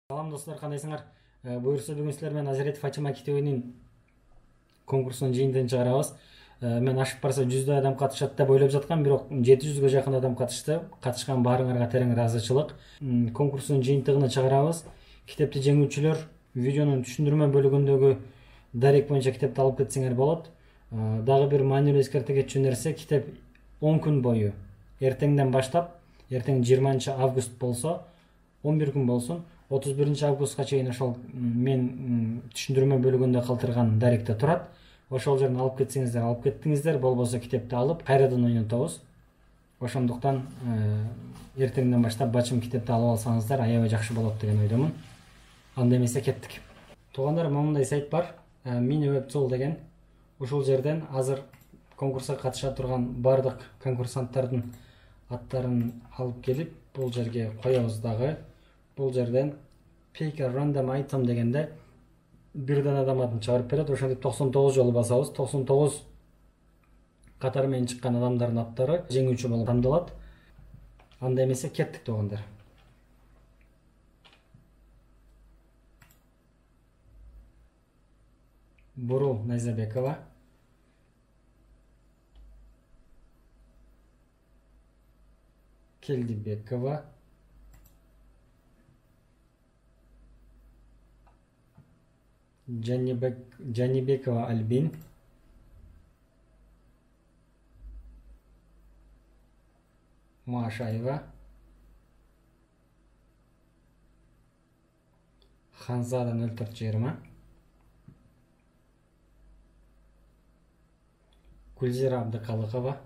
Салам достор, кандайсыңар? Буюрса бүгүн силер менен Азиретов Ачама китебинин конкурсунун жыйынтыгын чыгарабыз. Мен ашып барса 100 адам катышат деп ойлоп жаткам, бирок 700ге жакын адам катышты. Катышкан баарыңарга терең ыраазычылык. Конкурстун жыйынтыгын чыгарабыз. Китепти жеңүүчүлөр видеонун түшүндүрмө бөлүгүндөгү дарек боюнча китепти алып кетсеңер болот. Дагы бир маанилүү эскерте кетчү нерсе, китеп 10 күн бою эртеңден баштап, эртең 20 август болсо, 11 күн болсун, 31 августка чейин ошол мен түшүндүрмө бөлүгүндө калтырган даректе турат. Ошол жерден алып кетсеңиздер, алып кеттиңиздер, болбосо китепти алып кайрадан ойнотобуз. Ошондуктан эртеңден баштап бачым китепти алып алсаңыздар аябай жакшы болот деген ойдомун. Анда эмесе кеттик. Туугандар, момундай сайт бар, MiniWebTool деген. Ушул жерден азыр конкурска катыша турган бардык конкурсанттардын аттарын алып келип, бул жерге коебуз дагы. Бул жерден Pick a Random Item дегенде бирден адам атын чыгарып берет. Ошентип 99 жолу басабыз. 99 катары менен чыккан адамдардын аттары жеңүүчү болуп тандалат. Анда эмесе кеттик туугандар. Бурул Найзабекова, Келдибекова, Жанибекова Альбин, Машаева, Ханзада 0420, Гүлзира Абдыкалыкова,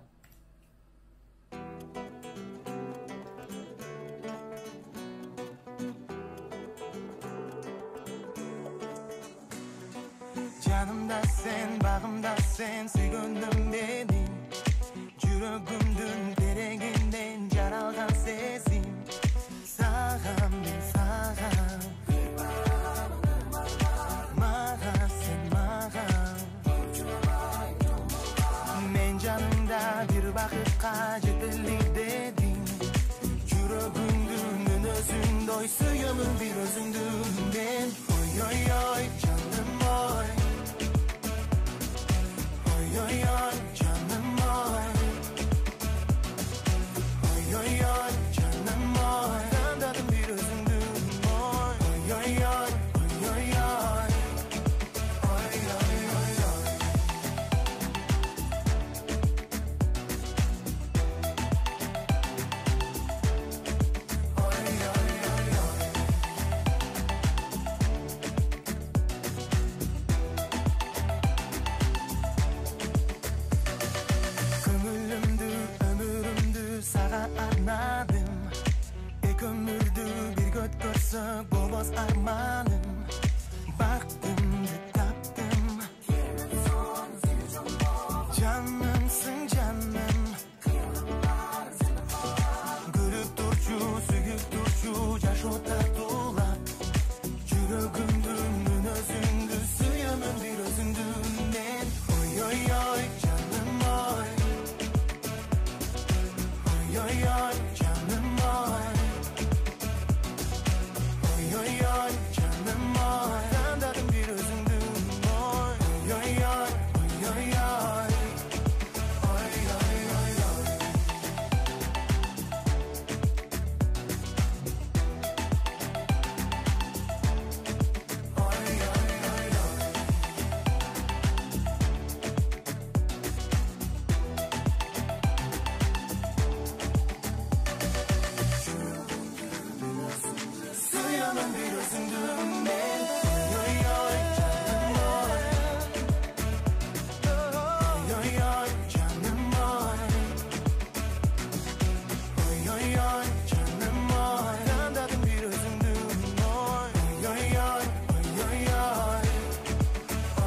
Canımda sen, bağımda sen, süygünüm benim. Жүрөгүмдүн терегинден жаралган сезим. Сагам мен сагам, мага сен мага. Мен жанымда бир бакытка жетели дедим. Жүрөгүмдүн өзүндөй сүйөмүн бир өзүңдү мен. Ой ой ой жаным ой. Ой ой ой canım oy. Oy oy oy canım oy. Kandadım bir özündüm oy. Oy oy oy oy oy oy. Oy oy oy oy. Oy oy oy oy. Ömürümdü sağa arnadım. Ek ömürdü bir göt görsök bolmaz armanım. Baktım taptım. Canımsın canım. Gülüp durçu, süyüp durçu, yaş otar dolap. Жүрөгүмдүн өзүңдү сүйөмүн бир өзүңдү мен. Oy oy oy canım oy. Oy oy oy canım oy. Oy oy oy canım oy. Kandadım bir özüngdü oy. Oy oy oy oy oy oy. Oy oy oy oy. Oy oy oy oy. Suyamın bir özündüm ben. Oy oy canım oy. Oy oy oy canım oy. Oy oy oy canım oy. Kandadım bir özündüm oy. Oy oy oy oy oy oy.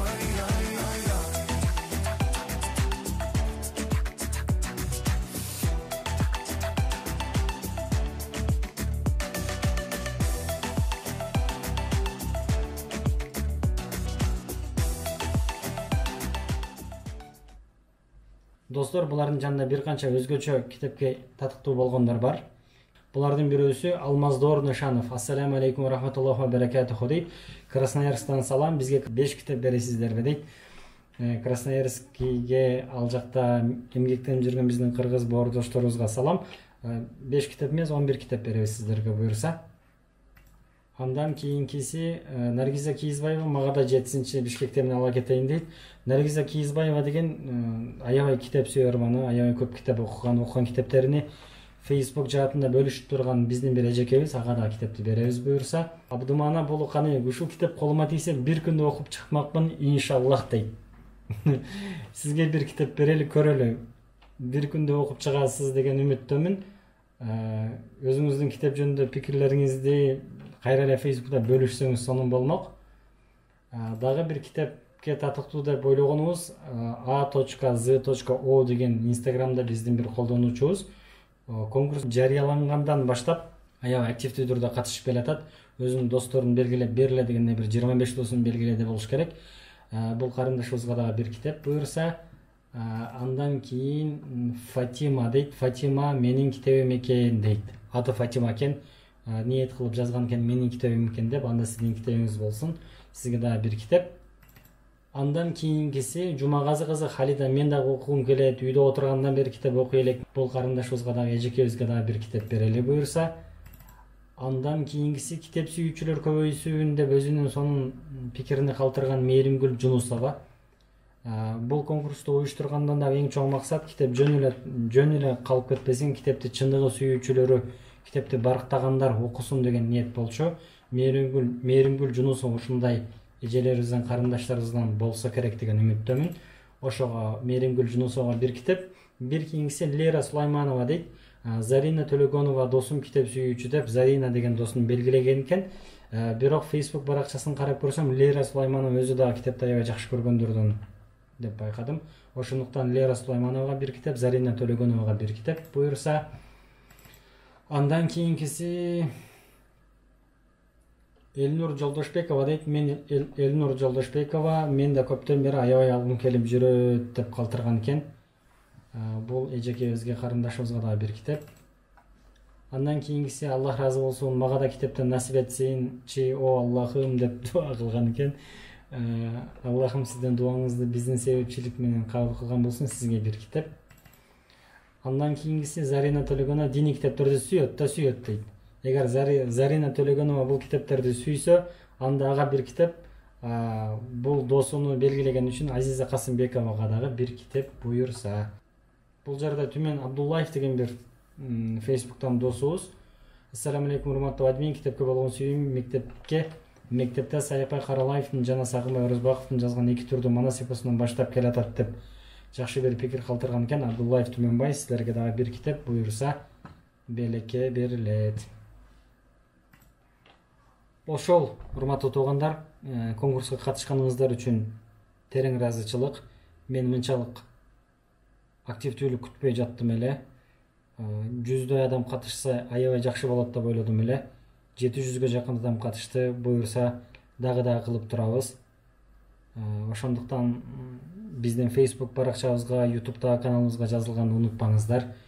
Oy oy oy oy. Достор, булардын жанында бир канча өзгөчө китепке татыктуу болгондор бар. Булардын бирөөсү Алмаздор Нышанов. Ассаламу алейкум ва рахматуллахи ва баракатуху дейт. Красноярсктан салам. Бизге 5 китеп бересиздерби дейт. Красноярскиге ал жакта эмгектенип жүргөн биздин кыргыз боордошторубузга салам. 5 китеп эмес, 11 китеп беребиз сиздерге буюрса. Андан кийинкиси Наргиза Кийизбаева мага да жетсинчи Бишкекте мен ала кетейин дейт. Наргиза Кийизбаева деген аябай китеп сүйөр маны, аябай көп китеп окуган китептерини Facebook жаатында бөлүшүп турган биздин бир эжекебиз, ага да китепти беребиз буюрса. Абдумана Болуканы ушул китеп колума тийсе бир күндө окуп чыкмакмын иншаллах дейт. Сизге бир китеп берели, көрөлү. Бир күндө окуп чыгасыз деген үмүттөмүн. Өзүңүздүн китеп жөнүндө пикирлериңизди кайра эле Facebook'та бөлүшсөңүз сонун болмок. Дагы бир китепке татыктуу деп ойлогонубуз a.z.o деген Instagramда биздин бир колдонуучубуз конкурс жарыялангандан баштап аябай активдүү түрдө катышып келатат. Өзүнүн досторун белгилеп бериле дегенде бир 25 досун белгиледи болуш керек. Бул карындашыбызга дагы бир китеп буюрса. Андан кийин Фатима дейт. Фатима менин китебим экен дейт. Аты Фатима экен. Ниет кылып жазган экен менин китебим экен деп, анда сиздин китебиңиз болсун. Сизге дагы бир китеп. Андан кийинкиси Жумагазы кызы Халида. Мен дагы окугум келет, үйдө отургандан бери китеп окуй элек. Бул карындашыбызга дагы эжекебизге дагы бир китеп берели буюрса. Андан кийинкиси китеп сүйүүчүлөр көбөйсүн деп өзүнүн сонун пикирин калтырган Мээримгүл Жунусова. Бул конкурсту уюштургандан да эң чоң максат китеп жөн эле калып кетпесин, китепти чындыгы сүйүүчүлөрү, китепти барктагандар окусун деген ниет болчу. Мээримгүл Жунусова ушундай эжелерибизден, карындаштарыбыздан болсо керек деген үмүттөмүн. Ошого Мээримгүл Жунусовага бир китеп, бир кийинкиси Лера Сулайманова дейт. Зарина Төлөгонова досум китеп сүйүүчү деп Зарина деген досун белгилеген экен. Бирок Facebook баракчасын карап көрсөм, Лера Сулайманова өзү дагы китепти аябай жакшы көргөндөрдөн деп байкадым. Ошондуктан Лера Сулаймановага бир китеп, Зарина Төлөгоновага бир китеп буюрса. Андан кийинкиси Элнур Жолдошбекова дейт. Мен Элнур Жолдошбекова, мен да көптөн бери аябай алгым келип жүрөт деп калтырган экен. Бул эжекебизге, карындашыбызга дагы бир китеп. Андан кийинкиси Аллах разы болсун, мага да китептен насип этсинчи, о Аллахым деп дуа кылган экен. Аллахым сиздин дуаңызды биздин себепчилик менен кабыл кылган болсун, сизге бир китеп. Андан кийинкиси Зарина Төлөгонова диний китептерди сүйөт дейт. Эгер Зарина Төлөгонова бул китептерди сүйсө, анда ага бир китеп, бул досуну белгилеген үчүн Азиза Касымбековага дагы бир китеп буюрса. Бул жерде Түмен Абдуллаев деген бир Facebook'тан досубуз. Ассаламу алейкум урматтуу админ, китепке болгон сүйүүм мектепте Сайпай Каралаевдин жана Сагынбай Орозбаковдун жазган эки түрдүү манас эпосунан баштап келатат деп жакшы бир пикир калтырган экен. Абдуллаев Түменбай, силерге дагы бир китеп буюрса белекке берилет. Ошол, урматтуу туугандар, конкурска катышканыңыздар үчүн терең ыраазычылык. Мен мынчалык активдүүлүк күтпөй жаттым эле. 100дөй адам катышса аябай жакшы болот деп ойлодум эле. 700ге жакын адам катышты. Буюрса дагы кылып турабыз. Ошондуктан биздин Facebook баракчабызга, YouTube'дагы каналыбызга жазылганды унутпаңыздар.